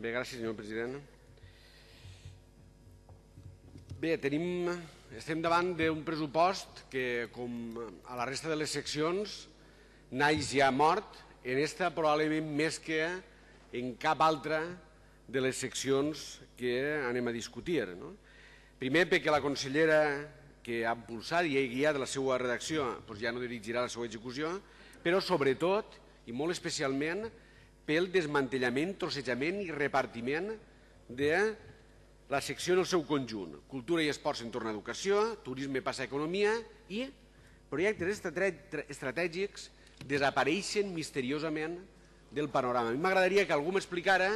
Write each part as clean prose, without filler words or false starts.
Bé, gràcies, senyor president. Bé, estem davant d'un pressupost que, com a la resta de les seccions, naix ja mort, en esta probablement més que en cap altra de les seccions que anem a discutir. Primer, perquè la consellera que ha impulsat i ha guiat la seva redacció ja no dirigirà la seva execució, però sobretot, i molt especialment, pel desmantellament, trossejament i repartiment de la secció en el seu conjunt. Cultura i esports entorn a educació, turisme passa a economia i projectes estratègics desapareixen misteriosament del panorama. A mi m'agradaria que algú m'explicara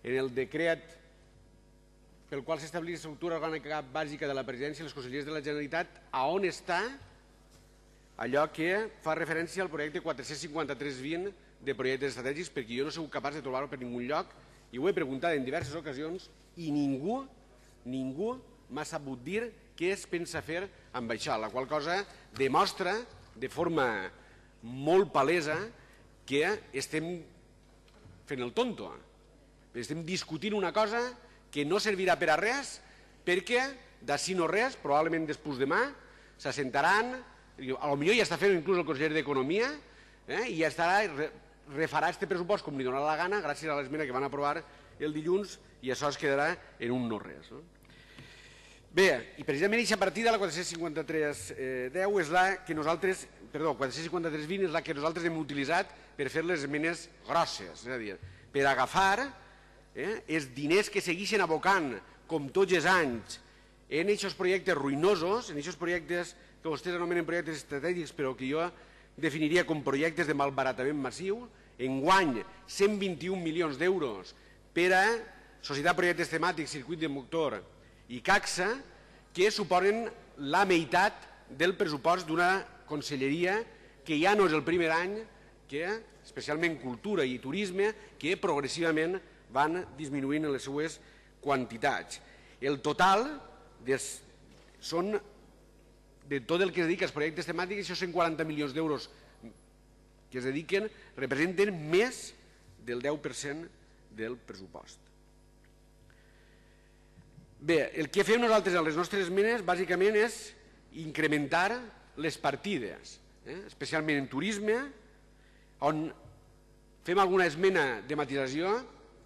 en el decret pel qual s'estableix l'estructura orgànica bàsica de la presidència i les conselleries de la Generalitat a on està allò que fa referència al projecte 453-20 de projectes estratègics, perquè jo no he sigut capaç de trobar-ho per ningun lloc i ho he preguntat en diverses ocasions i ningú m'ha sabut dir què es pensa fer amb això, la qual cosa demostra de forma molt palesa que estem fent el tonto. Estem discutint una cosa que no servirà per a res perquè d'ací no res, probablement després demà, s'assentaran, potser ja està fent inclús el conseller d'Economia i ja refarà aquest pressupost com li donarà la gana gràcies a l'esmena que van aprovar el dilluns i això es quedarà en un no res. Bé, i precisament aquesta partida, la 453-10, és la que nosaltres, perdó, 453-20 és la que nosaltres hem utilitzat per fer les esmenes grosses, és a dir, per agafar els diners que segueixen abocant, com tots els anys, en aquests projectes ruïnosos, en aquests projectes que vostès anomenen projectes estratègics, però que jo definiria com projectes de malbaratament massiu, enguany 121 milions d'euros per a Societat Projectes Temàtics, Circuit de Motor i CACSA, que suposen la meitat del pressupost d'una conselleria que ja no és el primer any que, especialment cultura i turisme, que progressivament van disminuint les seues quantitats. El total són, de tot el que es dedica als projectes temàtics, aquests 140 milions d'euros que es dediquen representen més del 10% del pressupost. Bé, el que fem nosaltres a les nostres esmenes bàsicament és incrementar les partides, especialment en turisme, on fem alguna esmena de matisació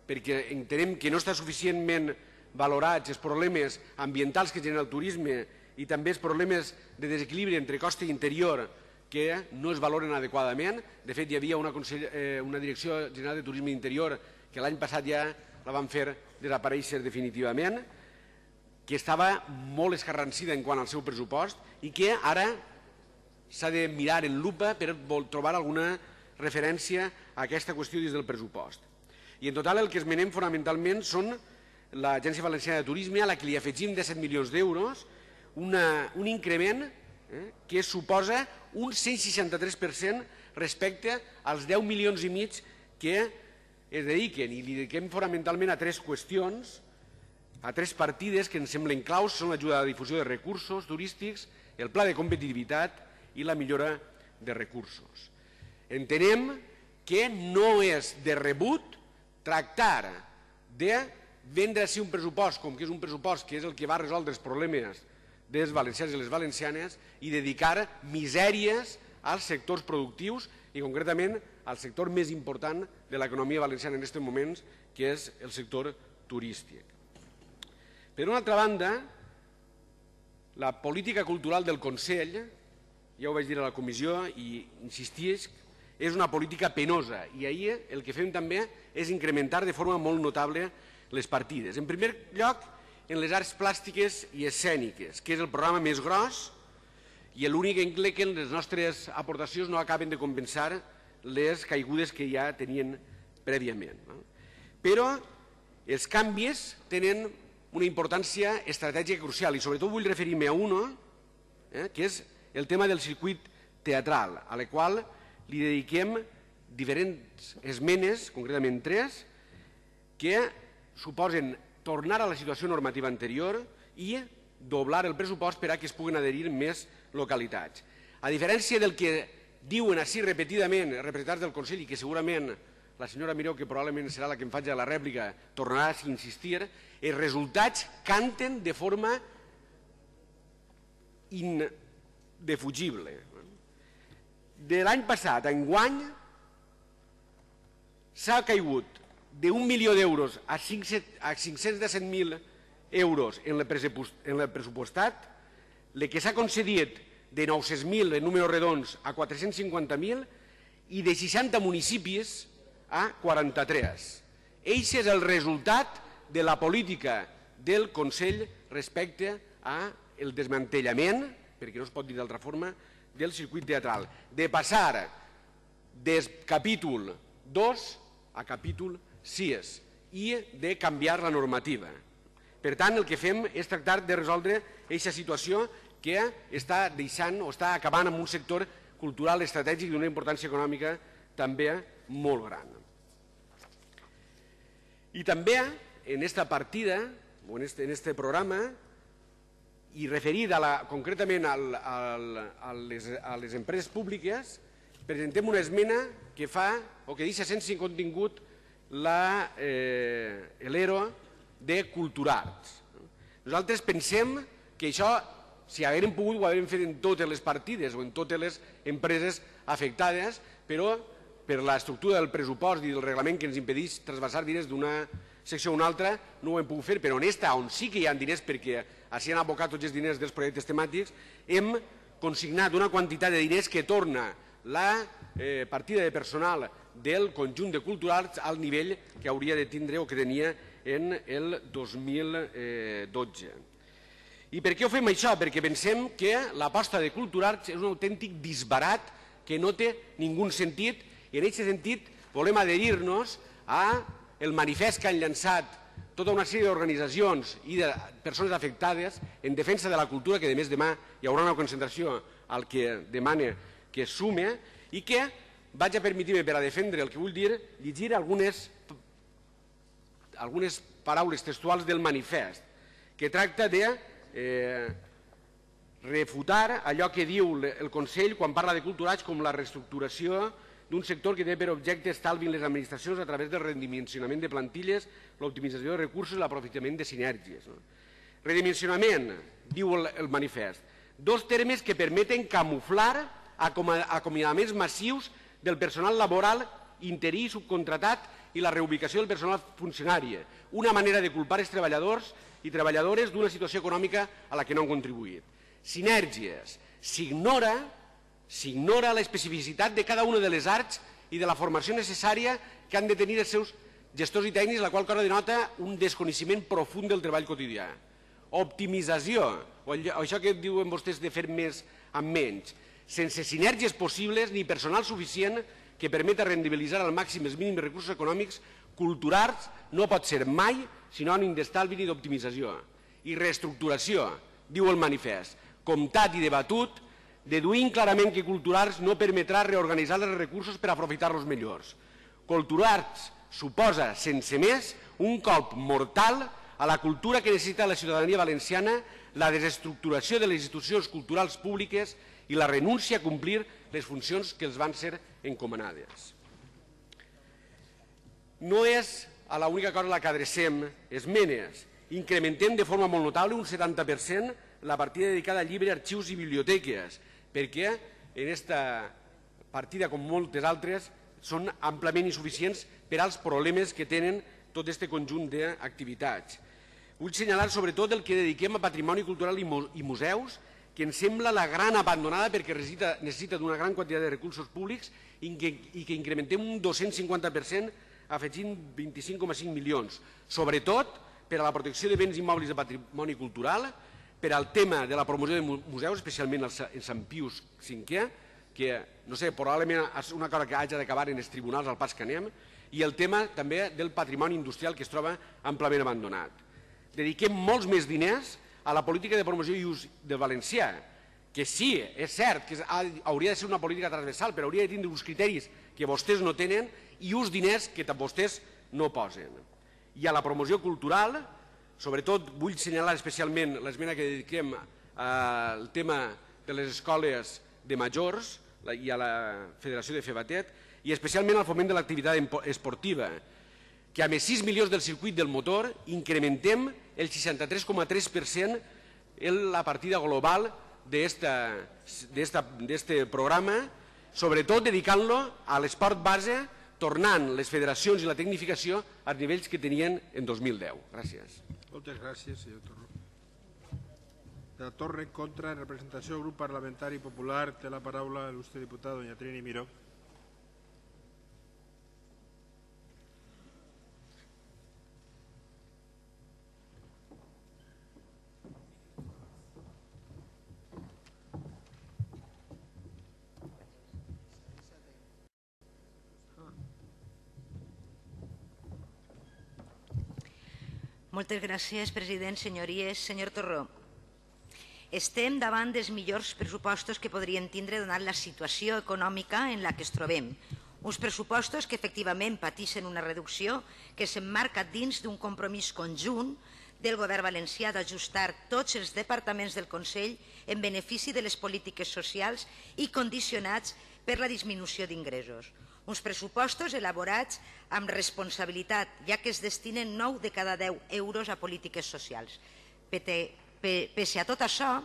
perquè entenem que no està suficientment valorats els problemes ambientals que genera el turisme i també els problemes de desequilibri entre costa i interior que no es valoren adequadament. De fet, hi havia una Direcció General de Turisme Interior que l'any passat ja la van fer desaparèixer definitivament, que estava molt escarransida en quant al seu pressupost i que ara s'ha de mirar en lupa per trobar alguna referència a aquesta qüestió dins del pressupost. I en total el que esmenem fonamentalment són l'Agència Valenciana de Turisme, a la que li afegim 17 milions d'euros, un increment que suposa un 163% respecte als 10 milions i mig que es dediquen, i li dediquem fonamentalment a tres qüestions, a tres partides que ens semblen claus, són l'ajuda a la difusió de recursos turístics, el pla de competitivitat i la millora de recursos. Entenem que no és de rebut tractar de vendre així un pressupost, com que és un pressupost que és el que va resoldre els problemes dels valencians i les valencianes, i dedicar misèries als sectors productius i concretament al sector més important de l'economia valenciana en aquests moments, que és el sector turístic. Per una altra banda, la política cultural del Consell, ja ho vaig dir a la comissió i insistisc, és una política penosa i ahir el que fem també és incrementar de forma molt notable les partides. En primer lloc, en les arts plàstiques i escèniques, que és el programa més gros i l'únic en què les nostres aportacions no acaben de compensar les caigudes que ja tenien prèviament. Però els canvis tenen una importància estratègica crucial i sobretot vull referir-me a un, que és el tema del circuit teatral, a la qual li dediquem diferents esmenes, concretament 3, que suposen tornar a la situació normativa anterior i doblar el pressupost per a que es puguin adherir més localitats. A diferència del que diuen així repetidament representants del Consell i que segurament la senyora Miró, que probablement serà la que em faci la rèplica, tornarà a insistir, els resultats canten de forma indefugible. De l'any passat a enguany s'ha caigut d'1 milió d'euros a 517.000 euros en el pressupostat, el que s'ha concedit de 900.000 en números redons a 450.000 i de 60 municipis a 43. Eixe és el resultat de la política del Consell respecte al desmantellament, perquè no es pot dir d'altra forma, del circuit teatral, de passar del capítol 2 a capítol 6 i de canviar la normativa. Per tant, el que fem és tractar de resoldre aquesta situació que està deixant o està acabant amb un sector cultural estratègic d'una importància econòmica també molt gran. I també en aquesta partida, o en aquest programa, i referit concretament a les empreses públiques, presentem una esmena que fa o que deixa sense contingut l'ERO de Culturarts. Nosaltres pensem que això, si haguérem pogut, ho haguérem fet en totes les partides o en totes les empreses afectades, però per l'estructura del pressupost i del reglament que ens impedeix trasbalsar diners d'una secció a una altra, no ho hem pogut fer, però en esta, on sí que hi ha diners perquè s'hi han abocat tots els diners dels projectes temàtics, hem consignat una quantitat de diners que torna la partida de personal del conjunt de Culturarts al nivell que hauria de tindre o que tenia en el 2012. I per què ho fem això? Perquè pensem que l'aposta de Culturarts és un autèntic disbarat que no té ningú sentit, i en aquest sentit volem adherir-nos al manifest que han llançat tota una sèrie d'organitzacions i de persones afectades en defensa de la cultura, que a més demà hi haurà una concentració al que demana que es sume, i que vaig a permetir-me, per a defendre el que vull dir, llegir algunes paraules textuals del manifest, que tracta de refutar allò que diu el Consell quan parla de Culturarts com la reestructuració d'un sector que té per objecte estalvi en les administracions a través del redimensionament de plantilles, l'optimització de recursos i l'aprofitament de sinergies. Redimensionament, diu el manifest, dos termes que permeten camuflar acomiadaments massius del personal laboral interí i subcontratat i la reubicació del personal funcionari, una manera de culpar els treballadors i treballadores d'una situació econòmica a la que no han contribuït. Sinergies, s'ignora l'especificitat de cada una de les arts i de la formació necessària que han de tenir els seus gestors i tècnics, la qual cosa denota un desconeixement profund del treball quotidià. Optimització, o això que diuen vostès de fer més amb menys, sense sinergies possibles ni personal suficient que permeta rendibilitzar al màxim els mínims recursos econòmics, Culturarts no pot ser mai sinònim d'estalvi ni d'optimització. I reestructuració, diu el manifest, comptat i debatut, deduint clarament que Culturarts no permetrà reorganitzar els recursos per aprofitar-los millors. Culturarts suposa, sense més, un colp mortal a la cultura que necessita la ciutadania valenciana, la desestructuració de les institucions culturals públiques i la renúncia a complir les funcions que els van ser encomanades. No és a l'única cosa a la que adrecem esmenes. Incrementem de forma molt notable, un 70%, la partida dedicada a llibres, arxius i biblioteques, perquè en aquesta partida, com moltes altres, són amplament insuficients per als problemes que tenen tot aquest conjunt d'activitats. Vull assenyalar sobretot el que dediquem a patrimoni cultural i museus, que ens sembla la gran abandonada perquè necessita d'una gran quantitat de recursos públics i que incrementem un 250% afegint 25,5 milions, sobretot per a la protecció de béns immobles de patrimoni cultural, per al tema de la promoció de museus, especialment el Sant Pius V, que, no sé, probablement és una cosa que hagi d'acabar en els tribunals al pas que anem, i el tema també del patrimoni industrial que es troba amplament abandonat. Dediquem molts més diners a la política de promoció i ús del valencià, que sí, és cert que hauria de ser una política transversal, però hauria de tindre uns criteris que vostès no tenen i uns diners que vostès no posen. I a la promoció cultural, sobretot vull assenyalar especialment l'esmena que dediquem al tema de les escoles de majors i a la Federació de Febatet, i especialment al foment de l'activitat esportiva, que amb els 6 milions del circuit del motor incrementem el 63,3% en la partida global d'aquest programa, sobretot dedicant-lo a l'esport base, tornant les federacions i la tecnificació als nivells que tenien en 2010. Gràcies. Moltes gràcies, senyor Torró. De la Torre, en contra, en representació del grup parlamentari popular, té la paraula l'il·lustre diputat doña Trini Miró. Moltes gràcies, president, senyories. Senyor Torró, estem davant dels millors pressupostos que podríem tindre donat la situació econòmica en la que ens trobem. Uns pressupostos que efectivament pateixen una reducció que s'emmarca dins d'un compromís conjunt del govern valencià d'ajustar tots els departaments del Consell en benefici de les polítiques socials i condicionats per la disminució d'ingressos. Uns pressupostos elaborats amb responsabilitat, ja que es destinen 9 de cada 10 euros a polítiques socials. Pese a tot això,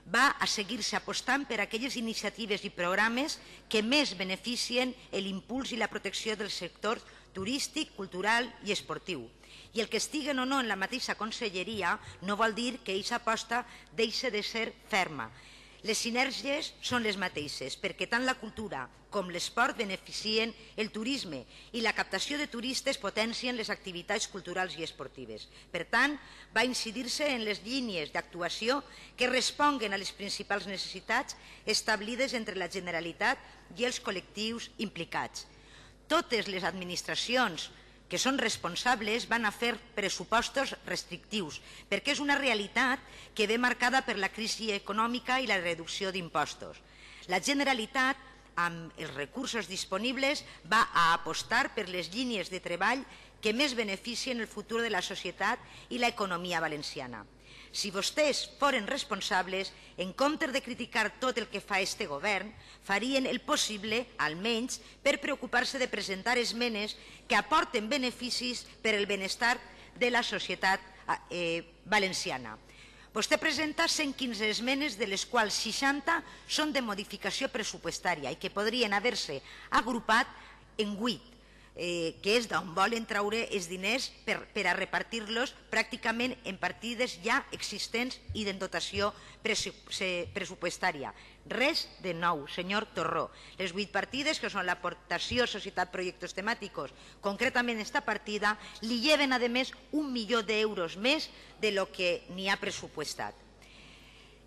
va a seguir-se apostant per aquelles iniciatives i programes que més beneficien l'impuls i la protecció del sector turístic, cultural i esportiu. I el que estiguen o no en la mateixa conselleria no vol dir que aquesta aposta deixi de ser ferma. Les sinergies són les mateixes, perquè tant la cultura com l'esport beneficien el turisme i la captació de turistes potencien les activitats culturals i esportives. Per tant, va incidir-se en les línies d'actuació que responguen a les principals necessitats establides entre la Generalitat i els col·lectius implicats. Totes les administracions que són responsables van a fer pressupostos restrictius, perquè és una realitat que ve marcada per la crisi econòmica i la reducció d'impostos. La Generalitat, amb els recursos disponibles, va a apostar per les línies de treball que més beneficien el futur de la societat i l'economia valenciana. Si vostès foren responsables, en comptes de criticar tot el que fa este govern, farien el possible, almenys, per preocupar-se de presentar esmenes que aporten beneficis per al benestar de la societat valenciana. Vostè presenta 115 esmenes, de les quals 60 són de modificació pressupostària i que podrien haver-se agrupat en 8. Que és d'on volen treure els diners per a repartir-los pràcticament en partides ja existents i de dotació pressupostària. Res de nou, senyor Torró. Les 8 partides, que són l'aportació a societat projectes temàticos, concretament esta partida, li lleven, a més, 1 milió d'euros més de lo que n'hi ha pressupostat.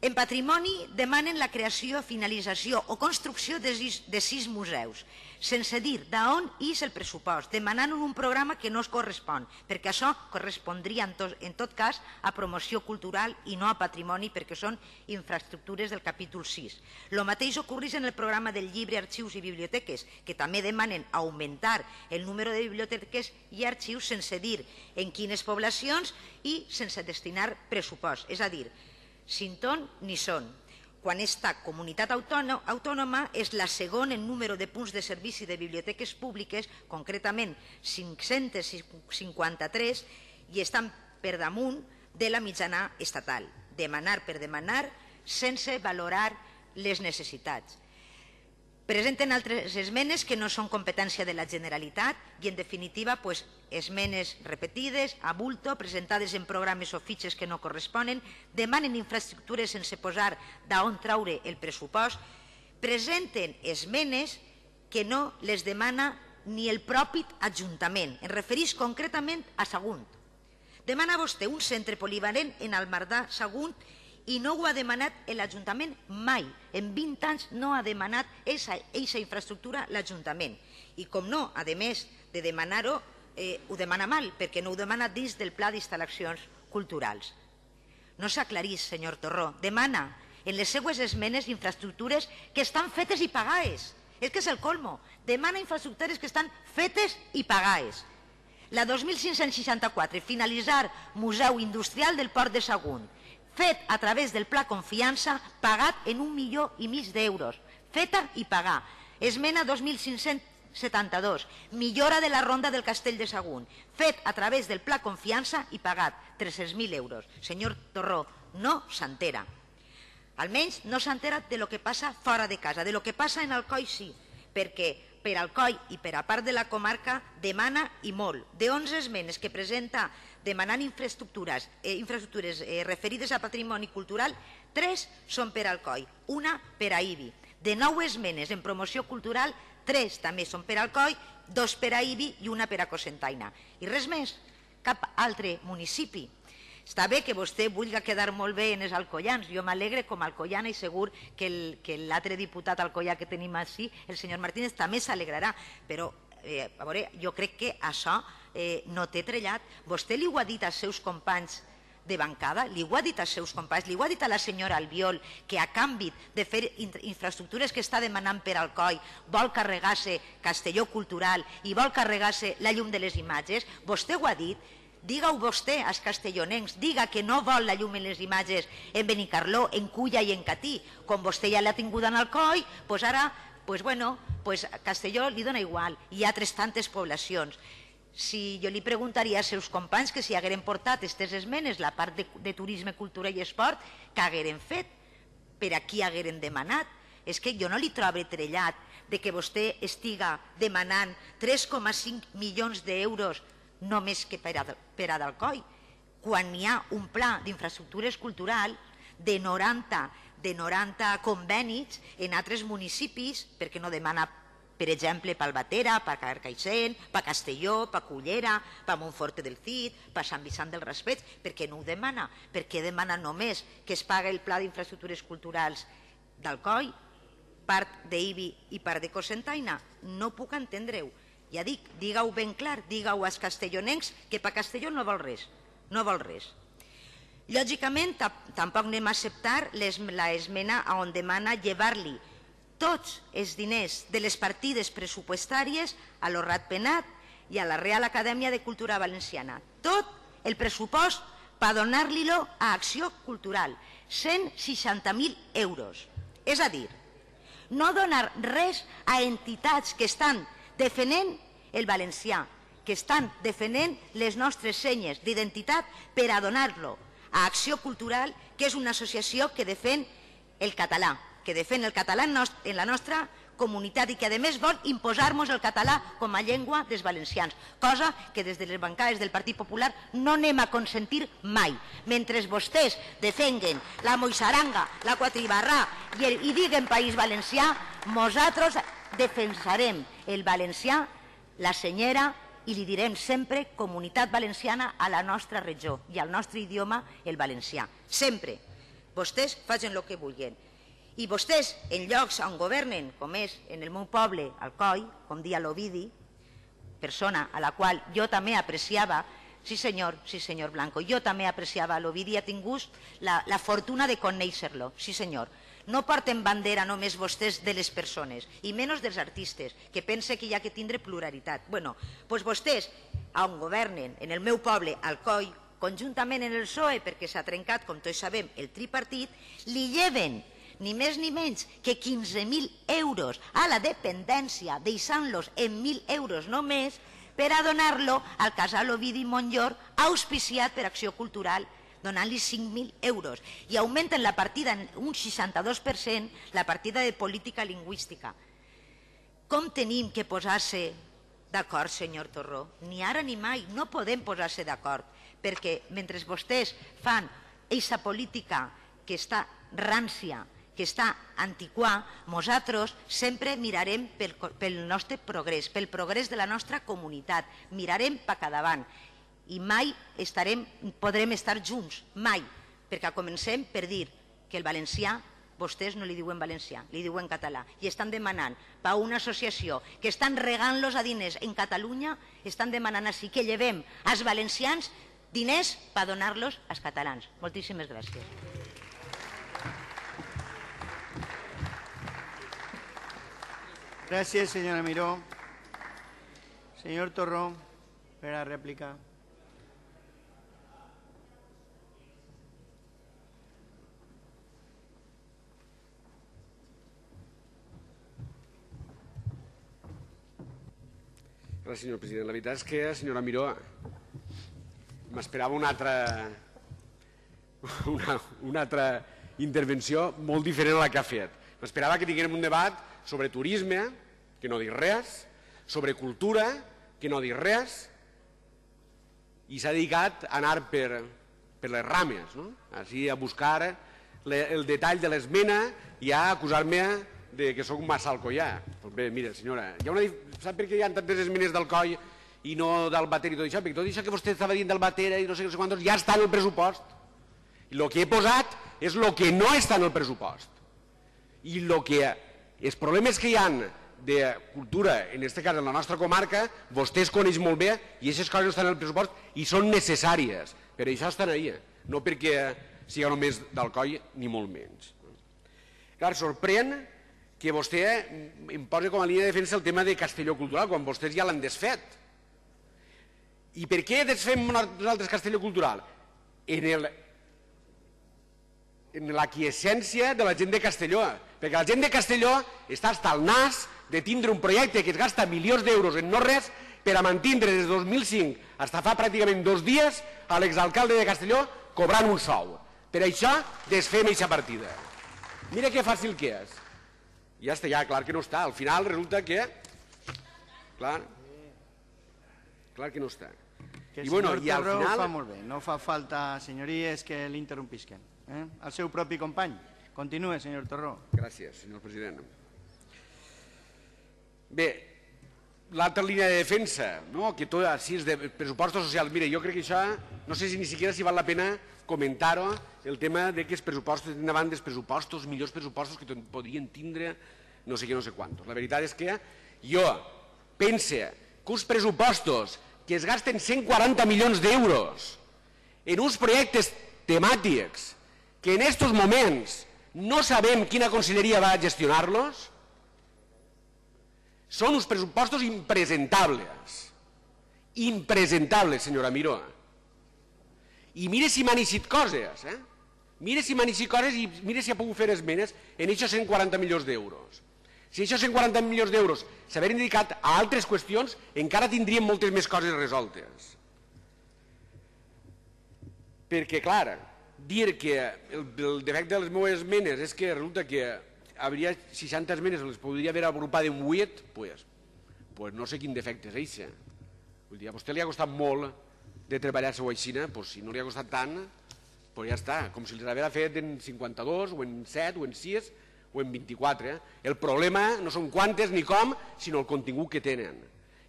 En patrimoni demanen la creació, finalització o construcció de 6 museus, sense dir d'on és el pressupost, demanant un programa que no es correspon, perquè això correspondria en tot cas a promoció cultural i no a patrimoni, perquè són infraestructures del capítol 6. El mateix ocorreix en el programa del llibre, arxius i biblioteques, que també demanen augmentar el número de biblioteques i arxius sense dir en quines poblacions i sense destinar pressupost, és a dir, sin ton ni son, quan esta comunitat autònoma és la segona en número de punts de servici de biblioteques públiques, concretament 553, i estan per damunt de la mitjana estatal. Demanar per demanar sense valorar les necessitats. Presenten altres esmenes que no són competència de la Generalitat i, en definitiva, esmenes repetides, a bulto, presentades en programes o fitxes que no corresponen, demanen infraestructures sense posar d'on traure el pressupost, presenten esmenes que no les demana ni el propi Ajuntament. Em referís concretament a Sagunt. Demana vostè un centre polivalent en el Mardà Sagunt i no ho ha demanat l'Ajuntament mai. En 20 anys no ha demanat aquesta infraestructura l'Ajuntament. I com no, a més de demanar-ho, ho demana mal, perquè no ho demana dins del Pla d'Instal·lacions Culturals. No s'aclarís, senyor Torró. Demana en les seues esmenes infraestructures que estan fetes i pagades. És que és el colmo. Demana infraestructures que estan fetes i pagades. La 2564, finalitzar Museu Industrial del Port de Sagunt, fet a través del Pla Confiança, pagat en 1,5 milió d'euros. Feta i pagar. Esmena 2535, 72. Millora de la ronda del Castell de Sagunt, fet a través del Pla Confiança i pagat 300.000 euros. Senyor Torró, no s'entera. Almenys no s'entera de lo que passa fora de casa, de lo que passa en Alcoi sí, perquè per Alcoi i per a part de la comarca demana i molt. De 11 esmenes que presenta demanant infraestructures referides a patrimoni cultural, 3 són per Alcoi, una per a Ibi. De 9 esmenes en promoció cultural, 3 també són per Alcoi, 2 per a Ibi i una per a Cocentaina. I res més, cap altre municipi. Està bé que vostè vulgui quedar molt bé en els alcoians. Jo m'alegre com a alcoiana i segur que l'altre diputat alcoià que tenim així, el senyor Martínez, també s'alegrarà. Però, a veure, jo crec que això no té trellat. Vostè li ho ha dit als seus companys de bancada, li ho ha dit als seus companys, li ho ha dit a la senyora Albiol, que a canvi de fer infraestructures que està demanant per Alcoi vol carregar-se Castelló Cultural i vol carregar-se la llum de les imatges. Vostè ho ha dit. Diga-ho vostè als castellonencs, diga que no vol la llum en les imatges en Benicarló, en Culla i en Catí. Com vostè ja l'ha tingut en Alcoi, doncs ara, a Castelló li dona igual. Hi ha altres tantes poblacions. Si jo li prguntaria als seus companys que si hagueren portat aquestes esmenes, la part de turisme, cultura i esport, què hagueren fet? Per a qui hagueren demanat? És que jo no li trobo trellat de que vostè estiga demanant 3,5 milions d'euros només que per a d'Alcoi, quan hi ha un pla d'infraestructures culturals de 90 convenis en altres municipis, perquè no demana, per exemple, per Albatera, per Carcaixent, per Castelló, per Cullera, per Montforte del Cid, per Sant Vicent del Raspeig, per què no ho demana? Per què demana només que es paga el pla d'infraestructures culturals d'Alcoi, part d'Ibi i part de Cocentaina? No puc entendre-ho. Ja dic, digue-ho ben clar, digue-ho als castellonencs que per Castelló no vol res, no vol res. Lògicament, tampoc anem a acceptar l'esmena on demana llevar-li tots els diners de les partides pressupostàries a lo Ratpenat i a la Real Acadèmia de Cultura Valenciana. Tot el pressupost per donar-li-lo a Acció Cultural, 160.000 euros. És a dir, no donar res a entitats que estan defendent el valencià, que estan defendent les nostres senyes d'identitat per a donar-lo a Acció Cultural, que és una associació que defèn el català, en la nostra comunitat i que a més vol imposar-nos el català com a llengua dels valencians, cosa que des de les bancades del Partit Popular no anem a consentir mai. Mentre vostès defenguen la moixaranga, la quatribarrà i diguen País Valencià, nosaltres defensarem el valencià, la senyera, i li direm sempre Comunitat Valenciana a la nostra regió i al nostre idioma, el valencià. Sempre. Vostès facin el que vulguin. I vostès, en llocs on governen, com és en el meu poble, Alcoi, com dia l'Ovidi, persona a la qual jo també apreciava, sí senyor Blanco, jo també apreciava l'Ovidi, he tingut la fortuna de conèixer-lo, sí senyor. No porten bandera només vostès de les persones, i menys dels artistes, que pensa que hi ha que tindre pluralitat. Doncs vostès, on governen, en el meu poble, Alcoi, conjuntament en el PSOE, perquè s'ha trencat, com tots sabem, el tripartit, li lleven ni més ni menys que 15.000 euros a la dependència, deixant-los en 1.000 euros només, per a donar-lo al casal Ovidi Montllor, auspiciat per Acció Cultural, donant-li 5.000 euros. I augmenten la partida en un 62%, la partida de política lingüística. Com tenim que posar-se d'acord, senyor Torró? Ni ara ni mai, no podem posar-se d'acord, perquè mentre vostès fan aquesta política que està rància, que està antiquà, nosaltres sempre mirarem pel nostre progrés, pel progrés de la nostra comunitat, mirarem cap davant i mai podrem estar junts, mai, perquè comencem per dir que el valencià, vostès no li diuen valencià, li diuen català, i estan demanant per una associació que estan regant-los a diners en Catalunya, estan demanant així que llevem als valencians diners per donar-los als catalans. Moltíssimes gràcies. Gracias, señora Miró. Señor Torró, para la réplica. Gràcies, senyor president. La veritat és que, senyora Miró, m'esperava una altra intervenció molt diferent a la que ha fet. M'esperava que tinguérem un debat sobre turisme, que no dic res, sobre cultura, que no dic res, i s'ha dedicat a anar per les rames, no? Així a buscar el detall de l'esmena i a acusar-me que sóc massa alcoià. Doncs bé, mira, senyora, sap per què hi ha tantes esmenes d'Alcoi i no del Bater i tot això? Perquè tot això que vostè estava dient del Bater i no sé quantos ja està en el pressupost. I el que he posat és el que no està en el pressupost. I els problemes que hi ha de cultura, en aquest cas en la nostra comarca, vostès coneixen molt bé i aquestes coses no estan en el pressupost i són necessàries. Per això estan ahí, no perquè sigui només d'Alcoi ni molt menys. Clar, sorprèn que vostè em posi com a línia de defensa el tema de Castelló Cultural, quan vostès ja l'han desfet. I per què desfem nosaltres Castelló Cultural? En l'aquiescència de la gent de Castelló, perquè la gent de Castelló està hasta el nas de tindre un projecte que es gasta milions d'euros en no res per a mantindre des de 2005 fins fa pràcticament 2 dies a l'exalcalde de Castelló cobrant un sou. Per això desfem aquesta partida. Mira que fàcil que és. Ja està, ja, clar que no està. Al final resulta que... Clar que no està. Que el senyor Torró ho fa molt bé. No fa falta, senyories, que l'interrompisquen. El seu propi company. Continue, senyor Torró. Gràcies, senyor president. Bé, l'altra línia de defensa, que tot així és de pressupostos socials. Mira, jo crec que això, no sé si ni siquiera si val la pena comentar-ho, el tema de que els pressupostos tenen davant dels pressupostos, millors pressupostos que podrien tindre no sé què, no sé quantos. La veritat és que jo pense que uns pressupostos que es gasten 140 milions d'euros en uns projectes temàtics que en aquests moments no sabem quina conselleria va a gestionar-los, són uns pressupostos impresentables. Impresentables, senyora Miró. I mire si m'han eixit coses, mire si m'han eixit coses i mire si ha pogut fer esmenes en aquests 140 milions d'euros. Si aquests 140 milions d'euros s'haguessin dedicat a altres qüestions, encara tindríem moltes més coses resoltes. Perquè, clar, dir que el defecte de les meves esmenes és que resulta que hauria 60 esmenes, les podria haver agrupat en 8, doncs no sé quin defecte és això. Vull dir, a vostè li ha costat molt de treballar-se així, si no li ha costat tant, doncs ja està, com si els hagués fet en 52, o en 7, o en 6, o en 24. El problema no són quantes ni com, sinó el contingut que tenen.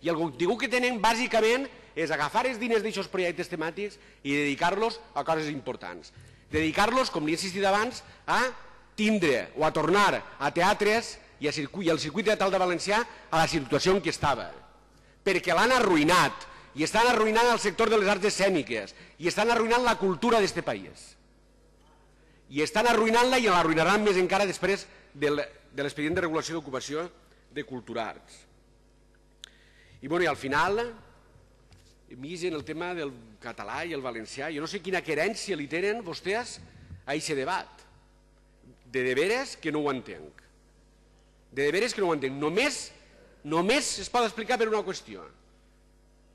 I el contingut que tenen, bàsicament, és agafar els diners d'aquests projectes temàtics i dedicar-los a coses importants. Dedicar-los, com li he insistit abans, a tindre o a tornar a teatres i al circuit teatral de Valencià a la situació en què estava. Perquè l'han arruïnat, i estan arruïnant el sector de les arts escèniques, i estan arruïnant la cultura d'aquest país. I estan arruïnant-la i l'arruïnaran més encara després de l'expedient de regulació d'ocupació de Culturarts. I al final, més en el tema del català i el valencià, jo no sé quina querència li tenen vostès a aquest debat. De veres que no ho entenc. De veres que no ho entenc. Només es pot explicar per una qüestió.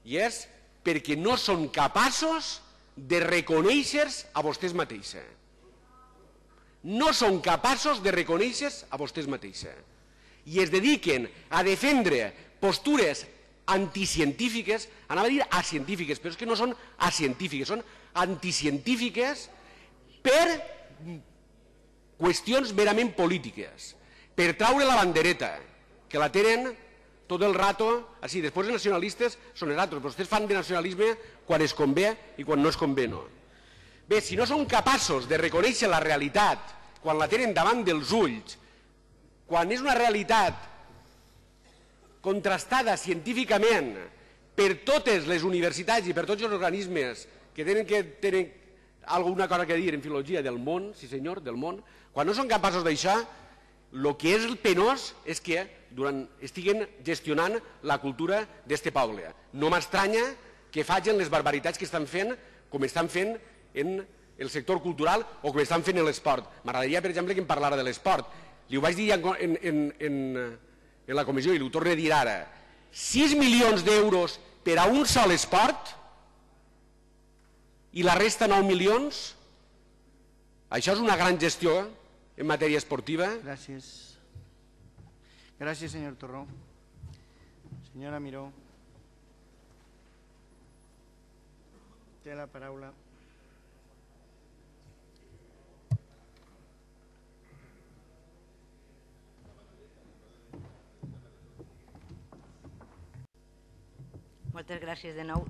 I és perquè no són capaços de reconèixer-se a vostès mateixos. No són capaços de reconèixer-se a vostès mateixos. I es dediquen a defendre postures anticientífiques, anava a dir acientífiques, però és que no són acientífiques, són anticientífiques per qüestions merament polítiques, per traure la bandereta, que la tenen tot el rato, així, després els nacionalistes són els altres, vostès fan de nacionalisme quan es convé i quan no es convé no. Bé, si no són capaços de reconèixer la realitat quan la tenen davant dels ulls, quan és una realitat contrastada científicament per totes les universitats i per tots els organismes que tenen alguna cosa que dir en filologia del món, sí senyor, del món, quan no són capaços d'això, el que és penós és que estiguen gestionant la cultura d'este poble. No m'estranya que facin les barbaritats que estan fent, com estan fent en el sector cultural o com estan fent en l'esport. M'agradaria, per exemple, que em parlara de l'esport. Li ho vaig dir en la comissió i li ho torno a dir ara. 6 milions d'euros per a un sol esport i la resta 9 milions? Això és una gran gestió en matèria esportiva? Gràcies. Gràcies, senyor Torró. Senyora Miró. Té la paraula. Moltes gràcies de nou.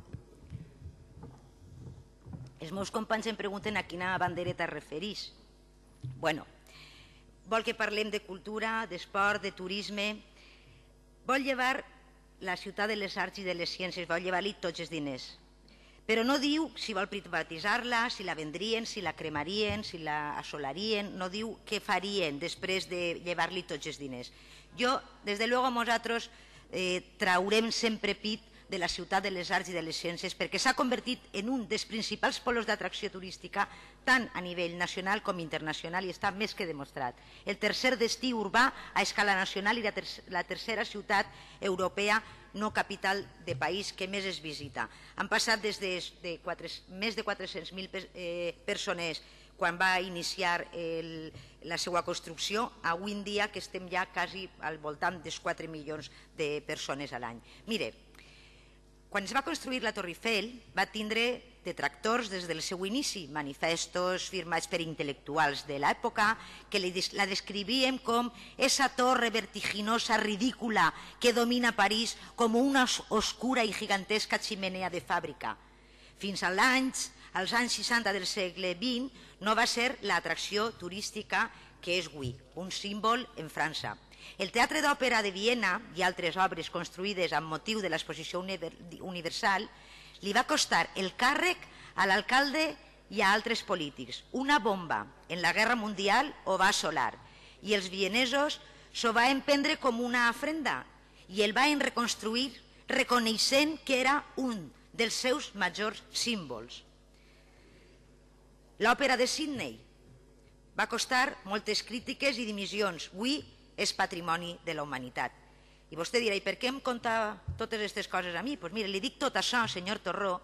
Els meus companys em pregunten a quina bandereta es refereix. Bueno, vol que parlem de cultura, d'esport, de turisme. Vol llevar la ciutat de les arts i de les ciències, vol llevar-li tots els diners. Però no diu si vol privatitzar-la, si la vendrien, si la cremarien, si la assolarien, no diu què farien després de llevar-li tots els diners. Jo, des de luego, nosaltres traurem sempre pit de la ciutat de les arts i de les ciències perquè s'ha convertit en un dels principals polos d'atracció turística tant a nivell nacional com internacional i està més que demostrat. El tercer destí urbà a escala nacional i la tercera ciutat europea no capital de país que més es visita. Han passat des de més de 400.000 persones quan va iniciar la seva construcció, avui en dia que estem ja quasi al voltant dels 4 milions de persones a l'any. Mire, quan es va construir la Torre Eiffel va tindre detractors des del seu inici, manifestos firmats per intel·lectuals de l'època que la descrivien com esa torre vertiginosa, ridícula, que domina París com una oscura i gigantesca ximenea de fàbrica. Fins als anys 60 del segle XX no va ser l'atracció turística que és avui, un símbol en França. El Teatre d'Òpera de Viena i altres obres construïdes amb motiu de l'exposició universal li va costar el càrrec a l'alcalde i a altres polítics. Una bomba en la Guerra Mundial ho va assolar i els vienesos s'ho van prendre com una ofrenda i el van reconstruir reconeixent que era un dels seus majors símbols. L'òpera de Sydney va costar moltes crítiques i dimissions. Avui és patrimoni de la humanitat. I vostè dirà, i per què em conta totes aquestes coses a mi? Doncs mire, li dic tot això, senyor Torró,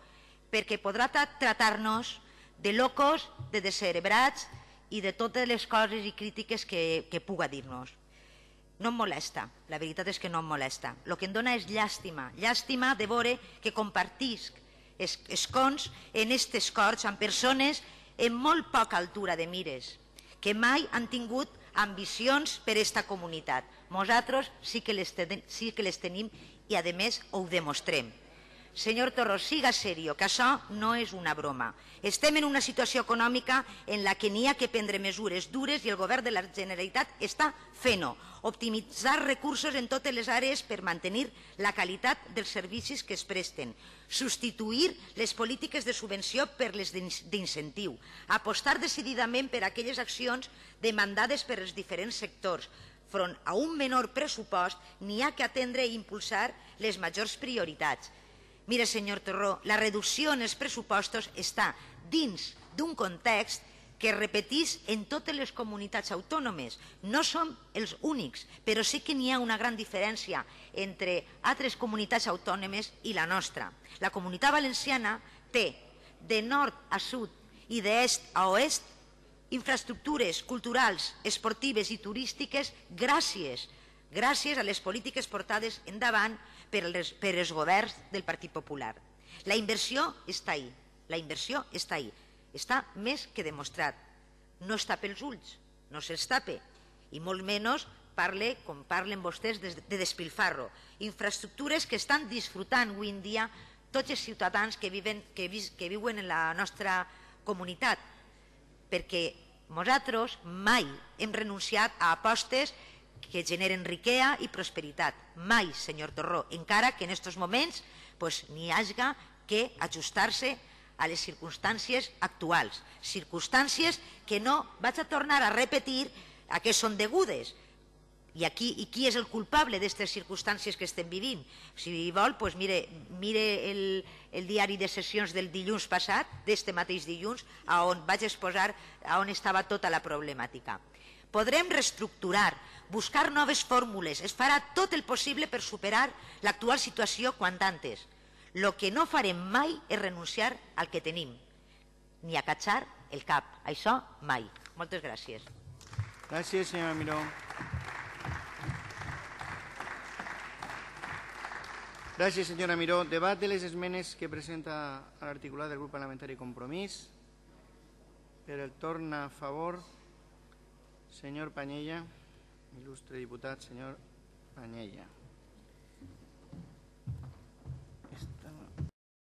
perquè podrà tratar-nos de locos, de descerebrats i de totes les coses i crítiques que puga dir-nos. No em molesta, la veritat és que no em molesta. El que em dona és llàstima, llàstima de veure que compartisc escons en aquestes corts amb persones en molt poca altura de mires, que mai han tingut ambicions per a aquesta comunitat. Nosaltres sí que les tenim i, a més, ho demostrem. Senyor Torró, siga serio, que això no és una broma. Estem en una situació econòmica en la que n'hi ha que prendre mesures dures i el govern de la Generalitat està fent-ho. Optimitzar recursos en totes les àrees per mantenir la qualitat dels servicis que es presten. Substituir les polítiques de subvenció per les d'incentiu. Apostar decididament per aquelles accions demandades per els diferents sectors. Front a un menor pressupost, n'hi ha que atendre i impulsar les majors prioritats. Mire, senyor Torró, la reducció en els pressupostos està dins d'un context que es repeteix en totes les comunitats autònomes. No som els únics, però sí que n'hi ha una gran diferència entre altres comunitats autònomes i la nostra. La Comunitat Valenciana té de nord a sud i d'est a oest infraestructures culturals, esportives i turístiques gràcies a les polítiques portades endavant per els governs del Partit Popular. La inversió està ahí, està més que demostrat. No es tapa els ulls, no se'ls tapa, i molt menys parle, com parlen vostès, de despilfarro. Infraestructures que estan disfrutant avui en dia tots els ciutadans que viuen en la nostra comunitat, perquè nosaltres mai hem renunciat a apostes que generen riquesa i prosperitat. Mai, senyor Torró, encara que en aquests moments n'hi hagi que ajustar-se a les circumstàncies actuals. Circumstàncies que no vaig a tornar a repetir a què són degudes. I qui és el culpable d'aquestes circumstàncies que estem vivint? Si vol, mire el diari de sessions del dilluns passat, d'aquest mateix dilluns, on vaig exposar on estava tota la problemàtica. Podrem reestructurar, buscar noves fórmules, es farà tot el possible per superar l'actual situació quant antes. El que no farem mai és renunciar al que tenim, ni acatxar el cap. Això mai. Moltes gràcies. Gràcies, senyora Miró. Gràcies, senyora Miró. Debat de les esmenes que presenta a l'articulat del grup parlamentari Compromís. Per el torn a favor, senyor Panyella, il·lustre diputat, senyor Panyella.